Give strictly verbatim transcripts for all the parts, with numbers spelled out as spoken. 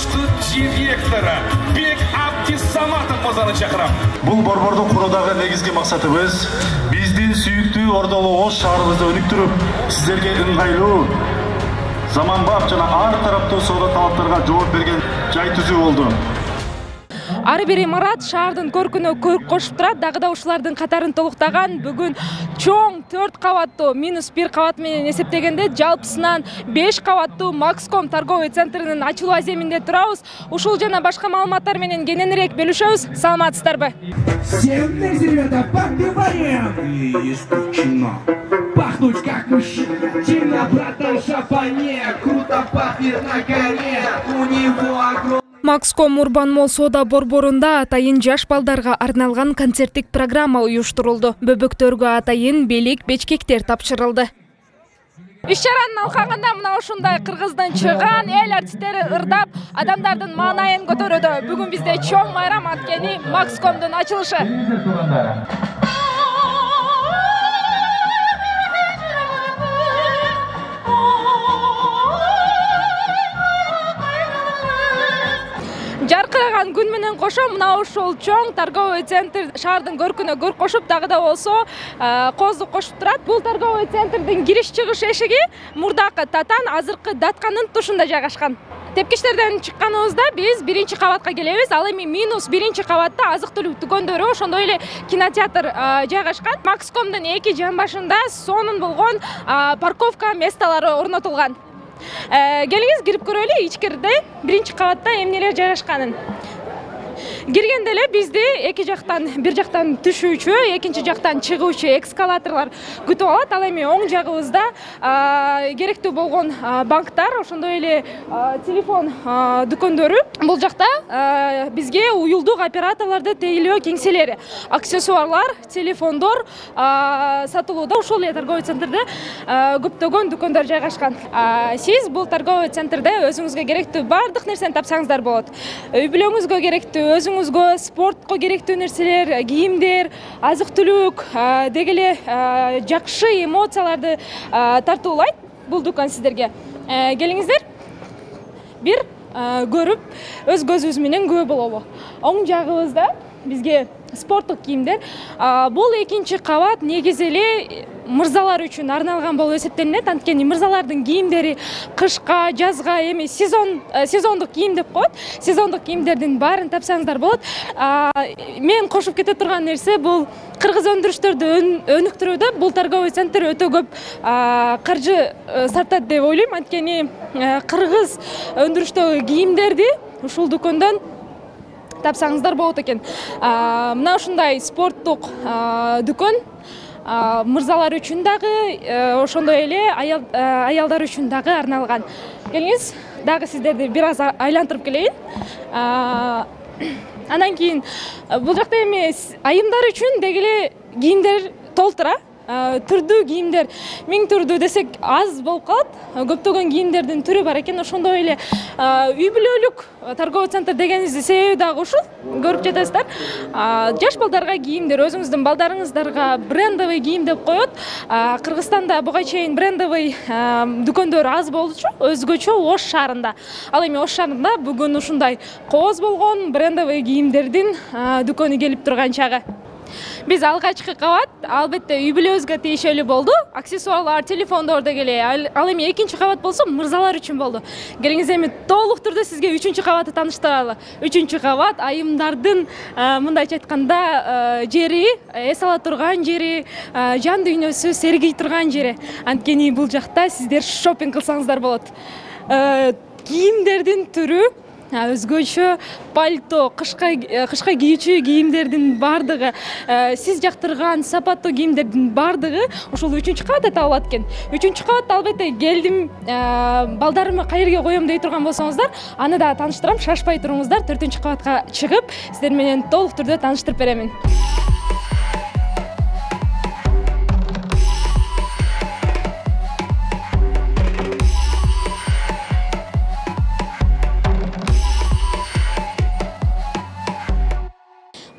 баштуу директора Бек Абдисаматов мырзаны чакырам. Бул борборду куруудагы негизги максатыбыз биздин сүйүктүү Ордолуу Ош шаарыбызды өнүктүрүп, сиздерге ыңгайлуу, заманбап жана ар тараптуу соода талаптарга жооп берген жай түзүү болду. Ар бир имарат шаардын көркүнө көрк кошуп турат. Дагы да ушулардын катарын толуктаган бүгүн чоң төрт кабаттуу минус бир кабат менен эсептегенде жалпысынан беш кабаттуу Макском торговый центринин ачылуу аземинде турабыз. Ушул жана башка маалыматтар менен кененирээк бөлүшөбүз. Саламатсыздарбы? Всем ребята, подпеваем! И исключено. Пахнуть как мужчина. Темно, братан, шапане. Круто пахнет на коне. У него огромный... Макском Урбан Молл соода борборунда атайын жаш балдарга арналган концерттик программа уюштурулду. Бөбөктөргө атайын белек, бечкектер тапшырылды. Иш-чаранын алкагында мына ушундай кыргыздын чыган эл артисттери ырдап, адамдардын маанайын көтөрүүдө. Бүгүн бизде чоң майрам анткени Макскомдун ачылышы. Жаркыраган күн менен кошо мына ушул чоң торговый центр шаардын көркүнө көрк кошуп, дагы да болсо кооздук кошуп турат. Бул торговый центрдин кириш-чыгыш эшиги мурдакы Татан, азыркы Датканын тушунда жайгашкан. Тепкичтерден чыкканыбызда биз биринчи кабатка келебиз. Ал эми минус биринчи кабатта азык-түлүк дүкөндөрү, ошондой эле кинотеатр жайгашкан. Макскомдун эки жамбашында сонун болгон парковка месталары орнотулган. Келиңиз кирип көрөлү ичкерде биринчи кабатта эмнелер жайгашканын. Киргенде эле бизди эки жактан, бир жактан түшүүчү, экинчи жактан чыгуучу эскалаторлор күтүп алат. Ал эми оң жагыбызда керектүү болгон банктар, ошондой эле телефон дүкөндөрү. Бул жакта бизге уюлдук операторлорду тейлөө кеңселери, аксессуарлар, телефондор сатылууда. Ушул эле торговый центрде көптөгөн дүкөндөр жайгашкан. Сиз бул торговый центрде өзүңүзгө керектүү бардык нерсени тапсаңыздар болот. Үй бүлөңүзгө керектүү, өзүңүзгө спортко керектүү нерселер, кийимдер, азык-түлүк, деги эле жакшы эмоцияларды тартуулайт бул дүкөн сиздерге. Келиңиздер, бир көрүп, өз көзүбүз менен күбө бололу. Оң жагыбызда бизге спорттук кийимдер. Бул экинчи кабат негизи эле мырзалар үчүн арналган болуп эсептелинет. Анткени мырзалардын кийимдери кышка, жазга, эми сезон сезондук кийим деп коет. Сезондук кийимдердин баарын тапсаңыздар болот. Мен кошуп кете турган нерсе бул кыргыз өндүрүштөрдү өнүктүрүүдө бул торговый центр өтө көп каржы сартат деп ойлойм. Анткени кыргыз өндүрүштөгү кийимдерди ушул дүкөндөн тапсаңыздар болот экен. Мына ушундай спорттук дүкөн мырзалар үчүн дагы, ошондой эле аялдар үчүн дагы арналган. Келиңиз, дагы сиздерди бир аз айлантырып келейин. Андан кийин бул жакта эми айымдар үчүн деги эле кийимдер толтура. Түрдүү кийимдер миң түрдүү десек аз болуп калат. Көптөгөн кийимдердин түрү бар экен. Ошондой эле үй бүлөлүк торговый центр дегениздин себеби дагы ушул. Көрүп жатасыздар. Жаш балдарга кийимдер, өзүңүздүн балдарыңыздарга брендовый кийим деп коет. Кыргызстанда буга чейин брендовый дүкөндөр аз болчу, өзгөчө Ош шаарында. Ал эми Ош шаарында бүгүн ушундай кооз болгон брендовый кийимдердин дүкөнү келип турган чагы. Биз алгачкы кабат албетте үй бүлөбүзгө тийиштүү болду. Аксессуарлар, телефондор деги эле. Ал эми экинчи кабат болсо мырзалар үчүн болду. Келиңиз эми толук түрдө сизге үчүнчү кабатты тааныштыралы. Үчүнчү кабат айымдардын мындайча айтканда жери, эс ала турган жери, жан дүйнөсү сергей турган жери. Анткени бул жакта сиздер шопинг кылсаңыздар болот. Кийимдердин түрү өзгөчө пальто, кышка кышка кийүүчү кийимдердин бардыгы, сиз жактырган сапаттуу кийимдердин бардыгы ушул үчүнчү кабатта табылат экен. Үчүнчү кабатта албетте келдим, балдарымды каерге коем дей турган болсоңуздар, аны да тааныштырам. Шашпай туруңуздар, төртүнчү кабатка чыгып, сиздер менен толук түрдө тааныштырып беремин.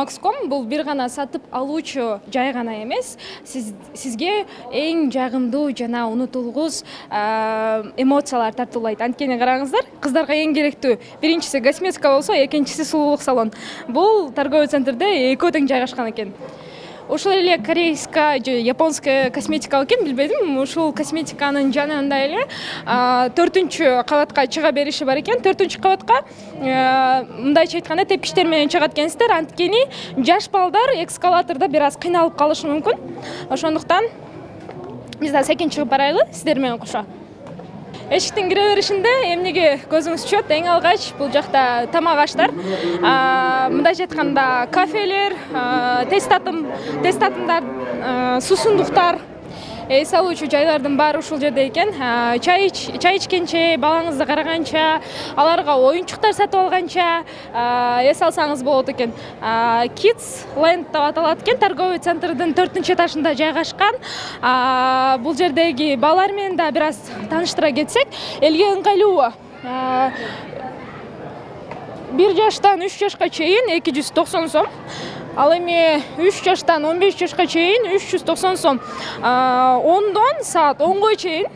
Макском бул бир гана сатып алуучу жай гана эмес, сиз сизге эң жагымдуу жана унутулгус эмоциялар тартуулайт. Анткени караңыздар, кыздарга эң керектүү биринчиси косметика болсо, экинчиси сулуулук салон. Бул торговый центрде экөө тең жайгашкан экен. Ушул эле корейская же японская косметика экен, билбедим. Ушул косметиканын жанында эле төртүнчү кабатка чыга бериши бар экен. төртүнчү кабатка мындайча айтканда тепкичтер менен чыгат экенсиздер. Анткени жаш балдар эскалатордо бир аз кыйналып калышы мүмкүн. Ошондуктан биз да секин чыгып барайлы сиздер менен кошо. Эшиктин кире беришинде эмнеге көзүңүз түшөт? Эң алгач бул жакта тамак аштар, мындайча айтканда кафелер, тест татым, тест татымдар, суусундуктар, эс алуучу жайлардын баары ушул жерде экен. Чай чай ичкенче, балаңызды караганча, аларга оюнчуктар сатып алганча эс алсаңыз болот экен. Kids Land деп аталат экен, торговый центрдин төртүнчү этажында жайгашкан. Бул жердеги балалар менен да бир аз тааныштыра кетсек, элге ыңгайлуу. бир жаштан үч жашка чейин эки жүз токсон сом. Ал эми үч жаштан он беш жашка чейин үч жүз токсон сом. ондон саат онго чейин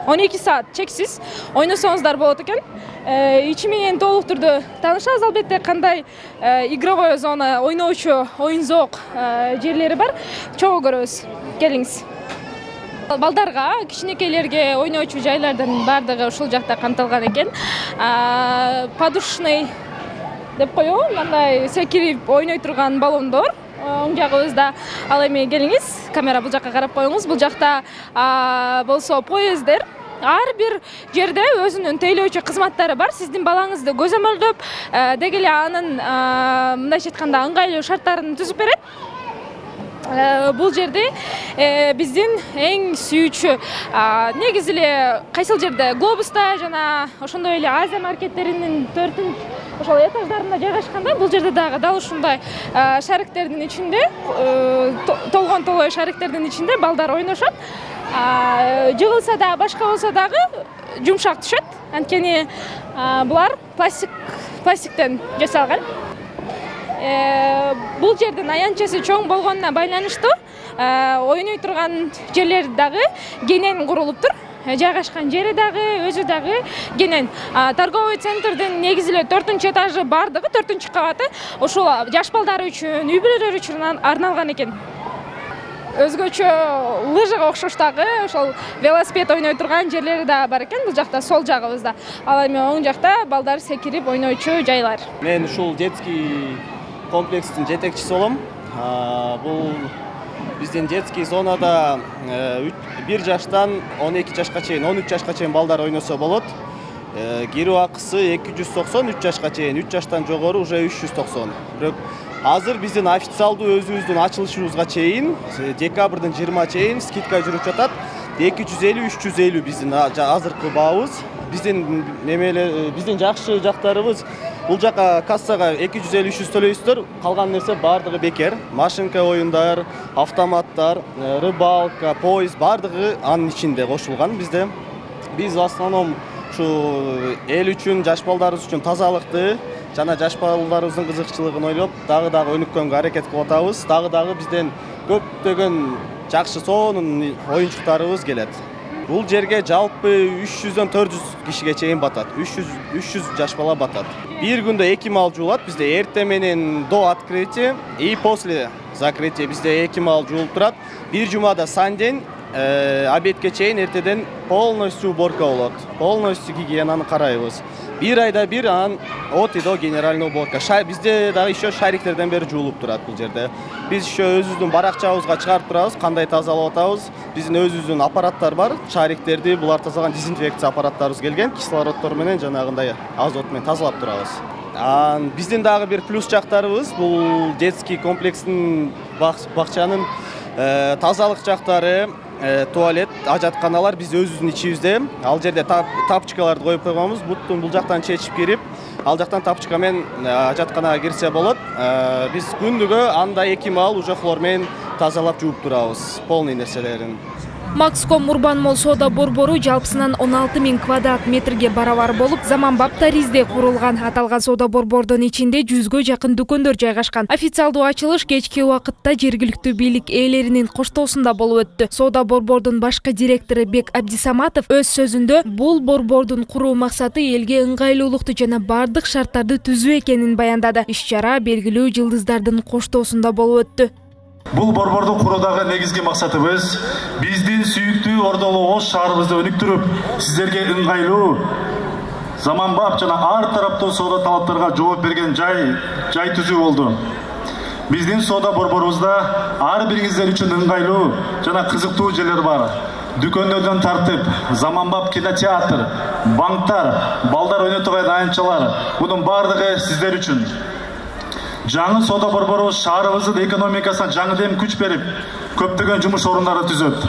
он эки саат чексиз ойносоңуздар болот экен. Ичи менен толук түрдө таанышабыз, албетте кандай игровой зона, ойноочу, оюн-зоок жерлери бар. Чогуу көрөбүз. Келиңиз. Балдарга, кичинекейлерге ойноочу жайлардын баардыгы ушул жакта камтылган экен. Подушный деп коебу, мындай секирип ойной турган баллондор оң жагыбызда. Ал эми келиңиз, камера бул жакка карап коюңуз. Бул жакта болсо поезддер. Ар бир жерде өзүнүн тейлөөчү кызматтары бар. Сиздин балаңызды көзөмөлдөп, деги эле анын мындайча айтканда ыңгайлуу шарттарын түзүп берет. Бул жерде биздин эң сүйүүчү негизи эле кайсыл жерде Глобуста жана ошондой эле Азия маркеттеринин төртүнчү ошол этаждарында жайгашканда, бул жерде дагы дал ушундай шариктердин ичинде, толгон толой шариктердин ичинде балдар ойношот. Жыгылса да, башка болсо дагы жумшак түшөт. Анткени булар пластик пластиктен жасалган. Бул жердин аянтчасы чоң болгонуна байланыштуу ойной турган жерлер дагы кенен курулуптур. Жайгашкан жери дагы, өзү дагы кенен. Торговый центрдин негизи эле төртүнчү этажы бардыгы, төртүнчү кабаты ошол жаш балдар үчүн, үй бүлөлөр үчүн арналган экен. Өзгөчө лыжага окшош дагы ошол велосипед ойной турган жерлери да бар экен. Бул жакта сол жагыбызда. Ал эми оң жакта балдар секирип ойноочу жайлар. Мен ушул детский комплекстин жетекчиси болом. Бул биздин детский зонада бир жаштан он эки жашка чейин, он үч жашка чейин балдар ойносо болот. Кирүү акысы эки жүз токсон, үч жашка чейин, үч жаштан жогору уже үч жүз токсон. Бирок азыр биздин официалдуу өзүбүздүн ачылышыбызга чейин, декабрдын жыйырма чейин скидка жүрүп жатат. эки жүз элүү үч жүз элүү биздин азыркы баабыз. Биздин немеле биздин жакшы жактарыбыз, бул жака кассага эки жүз элүү үч жүз төлөйсүздөр, калган нерсе бардыгы бекер. Машинка оюндар, автоматтар, рыбалка, поезд бардыгы анын ичинде кошулган бизде. Биз в основном ушу эл үчүн, жаш балдарыбыз үчүн тазалыкты жана жаш балдарыбыздын кызыкчылыгын ойлоп, дагы-дагы өнүккөнгө аракет кылып атабыз. Дагы-дагы бизден көптөгөн жакшы сонун оюнчуктарыбыз келет. Бул жерге жалпы үч жүздөн төрт жүз кишиге чейин батат. үч жүз жаш бала батат. Бир күндө эки мал жуулат. Бизде эрте менен до открытия и после закрытия бизде эки мал жуулуп турат. Бир жумада санден обедке чейин эртеден полностью уборка болот. Полностью гигиенаны карайбыз. Бир айда бир анан от и до генеральный уборка. Бизде дагы еще шариктерден бери жуулуп турат бул жерде. Биз еще өзүбүздүн баракчабызга чыгарып турабыз, кандай тазалап атабыз. Биздин өзүбүздүн аппараттар бар, шариктерди булар тазалаган дезинфекция аппараттарыбыз келген, кислороддор менен жанагындай азот менен тазалап турабыз. Биздин дагы бир плюс жактарыбыз бул детский комплекстин бакчанын тазалык жактары, туалет, ажатканалар биз өзүбүздүн ичибизде. Ал жерде тапчыкаларды коюп койгонбуз. Буттун бул жактан чечип кирип, ал жактан тапчыка менен ажатканага кирсе болот. Биз күндүгө анда эки мал уже хлор менен тазалап жууп турабыз, полный нерселерин. Макском Урбан Молл соода борбору жалпысынан он алты миң квадрат метрге барабар болуп, заманбап таризде курулган. Аталган соода борбордун ичинде жүзгө жакын дүкөндөр жайгашкан. Официалдуу ачылыш кечки убакытта жергиликтүү бийлик ээлеринин коштоосунда болуп өттү. Соода борбордун башкы директору Бек Абдисаматов өз сөзүндө бул борбордун куруу максаты элге ыңгайлуулукту жана бардык шарттарды түзүү экенин баяндады. Иш-чара белгилүү жылдыздардын коштоосунда болуп өттү. Бул борборду куруудагы негизги максатыбыз биздин сүйүктүү Ордолуу Ош шаарыбызды өнүктүрүп, сиздерге ыңгайлуу, заманбап жана ар тараптуу соода талаптарга жооп берген жай жай түзүү болду. Биздин соода борборубузда ар бириңиздер үчүн ыңгайлуу жана кызыктуу жерлер бар. Дүкөндөрдөн тартып, заманбап кинотеатр, банктар, балдар ойнотуган аянтчалар, мунун бардыгы сиздер үчүн. Жаңы соода борборубуз шаарыбыздын экономикасына жаңы дем күч берип, көптөгөн жумуш орундары түзөт.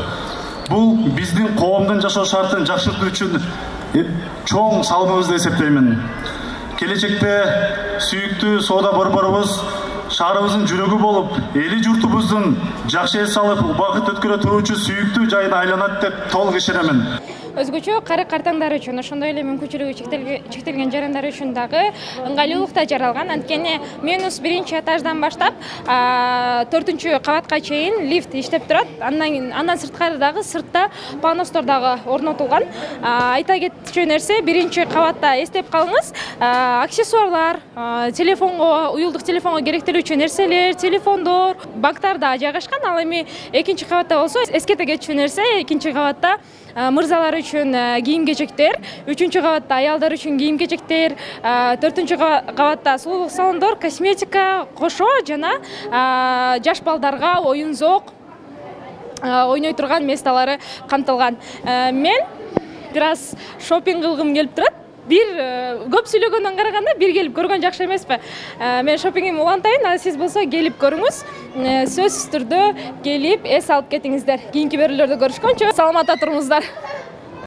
Бул биздин коомдун жашоо шартын жакшыртуу үчүн чоң салымыбыз деп эсептеймин. Келечекте сүйүктүү соода борборубуз шаарыбыздын жүрөгү болуп, эли журтубуздун жакшы эс алып, убакыт өткөрө туруучу сүйүктүү жайына айланат деп толук ишенемин. Өзгөчө кары картаңдар үчүн, ошондой эле мүмкүнчүлүгү чектелген жарандар үчүн дагы ыңгайлуулукта жаралган. Анткени менус биринчи этаждан баштап төртүнчү кабатка чейин лифт иштеп турат. Андан андан сырткары дагы сыртта пандустар дагы орнотулган. Айта кетчү нерсе, биринчи кабатта эстеп калыңыз, аксессуарлар, телефонго, уюлдук телефонго керектелүүчү нерселер, телефондор, банктар да жайгашкан. Ал эми экинчи кабатта болсо эскете кетчү нерсе, экинчи кабатта мырзалар үчүн кийим-кечектер, үчүнчү кабатта аялдар үчүн кийим-кечектер, төртүнчү кабатта сулуулук салондор, косметика, кошо жана жаш балдарга оюн-зоок ойной турган месталары камтылган. Мен бир аз шопинг кылгым келип турат. Бир көп сүйлөгөндөн караганда бир келип көргөн жакшы эмеспи? Мен шопингимди улантайын, а сиз болсо келип көрүңүз. Сөзсүз түрдө келип эс алып кетиңиздер. Кийинки берүүлөрдө көрүшкөнчө саламатта туруңуздар.